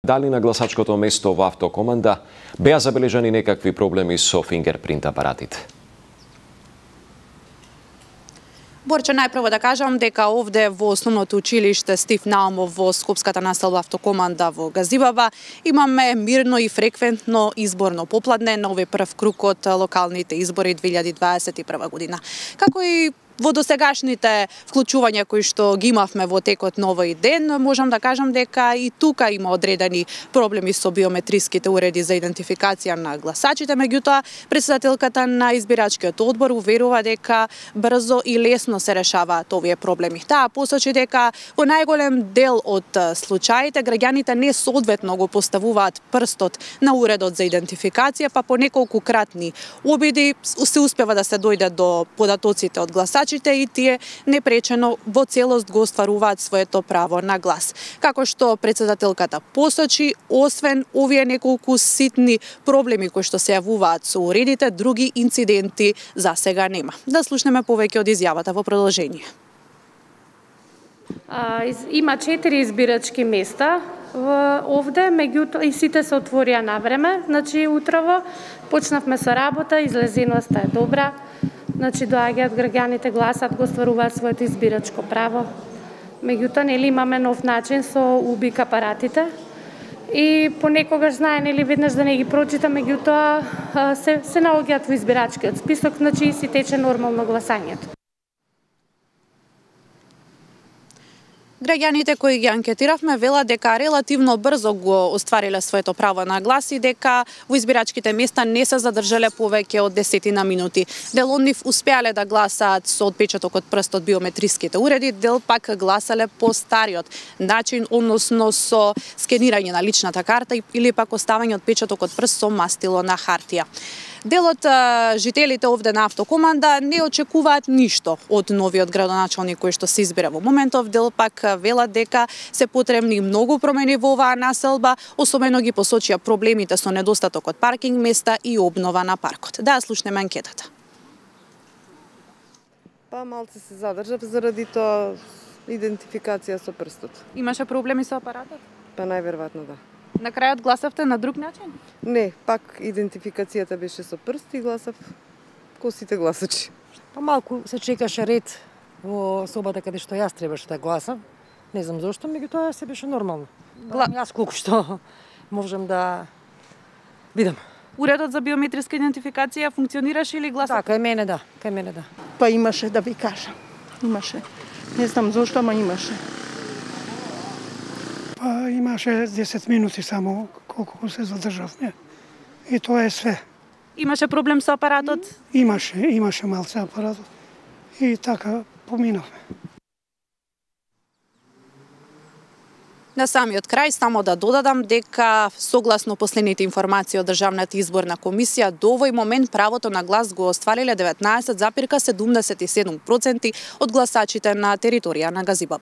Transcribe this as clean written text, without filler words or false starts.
Дали на гласачкото место во автокоманда беа забележани некакви проблеми со фингерпринт апаратите? Борче, најпрво да кажам дека овде во основното училиште Стив Наумов во Скопската населба автокоманда во Газибаба имаме мирно и фреквентно изборно попладне на овој прв круг од локалните избори 2021 година. Како и во досегашните вклучувања кои што ги имавме во текот на овој ден, можам да кажам дека и тука има одредени проблеми со биометриските уреди за идентификација на гласачите, меѓутоа претседателката на избирачкиот одбор уверува дека брзо и лесно се решаваат овие проблеми. Таа посочи дека во најголем дел од случаите граѓаните не соодветно го поставуваат прстот на уредот за идентификација, па по неколку кратни обиди се успева да се дојде до податоците од гласачите и тие непречено во целост го остваруваат своето право на глас. Како што претседателката посочи, освен овие неколку ситни проблеми кои што се јавуваат со уредите, други инциденти за сега нема. Да слушнеме повеќе од изјавата во продолжение. Има 4 избирачки места овде, меѓутоа и сите се отворија на време, значи утрово почнавме со работа, излезеноста е добра. Значи доаѓаат граѓаните, гласат, го остваруваат своето избирачко право. Меѓутоа, нели имаме нов начин со убик апаратите и понекогаш знае нели веднаш да не ги прочита, меѓутоа се наоѓаат во избирачкиот список, значи си тече нормално гласањето. Граѓаните кои ги анкетиравме велат дека релативно брзо го оствариле своето право на глас и дека во избирачките места не се задржале повеќе од 10 минути. Дел од нив успеале да гласаат со отпечаток од прст од биометриските уреди, дел пак гласале по стариот начин, односно со скенирање на личната карта или пак оставање отпечаток од прст со мастило на хартија. Дел од жителите овде на автокоманда не очекуваат ништо од новиот градоначалник кој што се избира во моментов, дел пак велат дека се потребни многу промени во оваа населба, особено ги посочија проблемите со недостаток од паркинг места и обнова на паркот. Да слушнеме анкетата. Па малце се задржав заради тоа идентификација со прстот. Имаше проблеми со апаратот? Па најверојатно да. На крајот гласавте на друг начин? Не, пак идентификацијата беше со прст и гласав ко сите гласачи. Па малку се чекаше ред во собата каде што јас требаше да гласам. Не знам зошто, меѓутоа се беше нормално. Јас колку што можам да видам. Уредот за биометриска идентификација функционираше или гласав? Да, кај мене да, кај мене да. Па имаше да ви кажам. Имаше. Не знам зошто, ама имаше. Па имаше 10 минути само колку се задржавме. И тоа е све. Имаше проблем со апаратот? Имаше малце апаратот. И така поминавме. На самиот крај само да додадам дека согласно последните информации од Државната изборна комисија до овој момент правото на глас го оствариле 19,77% од гласачите на територија на Газибаба.